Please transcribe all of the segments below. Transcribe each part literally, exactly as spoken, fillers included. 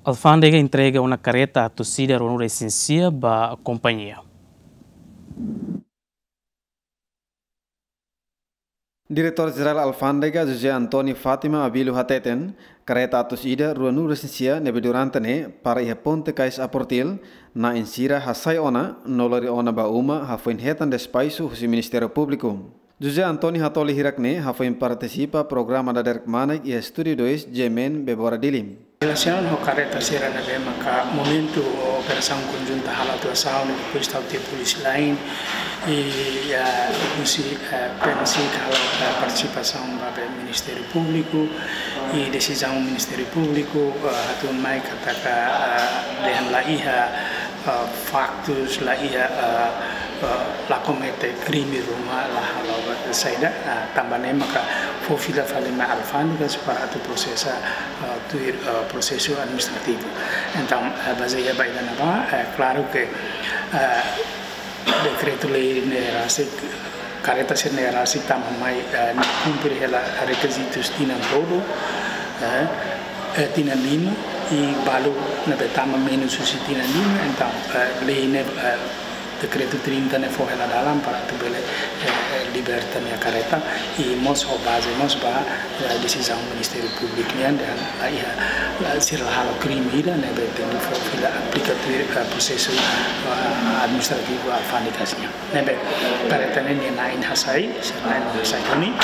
Alfándega entrega ona kareta atus ida ruanulu-resin-sia ba kompañia. Diretór Jerál Alfándega José António Fátima Abílio hateten, kareta atus ida ruanulu-resin-sia ne'ebé durante ne'e para iha ponte Kais Aportil, na'in sira hasai ona no lori ona ba uma hafoin hetan despaxu husi Ministériu Públiku. José António hatoli hirak ne'e hafoin partisipa programa Dadeer Kmanek iha Estúdiu dois G M N Bebora Dili. Relasiona ho kareta sira ne'ebé maka momentu operasaun konjunta halo atuasaun, depois tau tiha polísia lain, i, eh, husi, eh, P M C halo, eh, partisipasaun ba be Ministériu Públiku, i desizaun Ministériu Públiku, eh, hatún mai katak, eh, dehan la iha, eh, faktus, la iha, eh, eh, la komete krime ruma, la halo ba saida, eh, tanba ne'e maka fó fila fali mai alfándega para atu prosesa, eh, tuir, eh, prosesu administrativu. Entaun, eh, bazeia ba ida-ne'ebá, eh, klaru ke, eh, dekretu-lei ne'e rasik, kareta sira ne'e rasik tama mai, eh, ne'e kumpre hela rekizitus tinan tolu, eh, eh, tinan lima, i balu ne'ebé tama menus husi tinan lima, entaun, eh, lei ne'e, eh, dekretu trinta ne'e fó hela dalan para atu bele, eh, eh, liberta nia kareta, i mós ho baze mós ba, eh, desizaun Ministériu Públiku nian, dehan la iha, la sira la halo krime ida, ne'ebé tenke fó fila aplika tuir, eh, prosesu, eh, administrativu alfándega nian. Ne'ebé kareta ne'e nia na'in hasai, sira na'in hasai duni,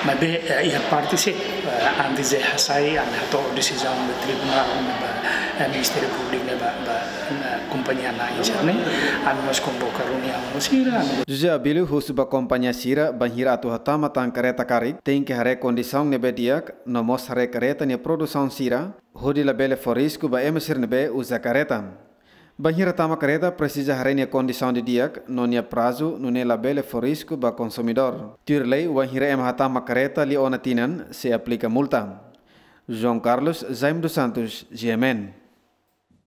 maibé, eh, iha parte se, eh, antes de hasai, ami hato'o desizaun ba tribunál, ba, eh, Ministériu Públiku ne'e ba, ba, eh, kompañia na'in sira-ne'e, ami mós konvoka reuniaun ho sira, ami José Abílio husu ba kompañia sira bainhira atu hatama tan kareta karik, tenke haree kondisaun ne'ebé di'ak, no mós haree kareta nia produsaun sira, hodi labele fó risku ba ema sira ne'ebé uza kareta. Bainhira tama kareta presiza haree nia kondisaun didi'ak, no nia prazu, nune'e labele fó risku ba konsumidór. Tuir lei, bainhira ema hatama kareta liu ona tinan, sei aplika multa. João Carlos Jaime dos Santos, G M N.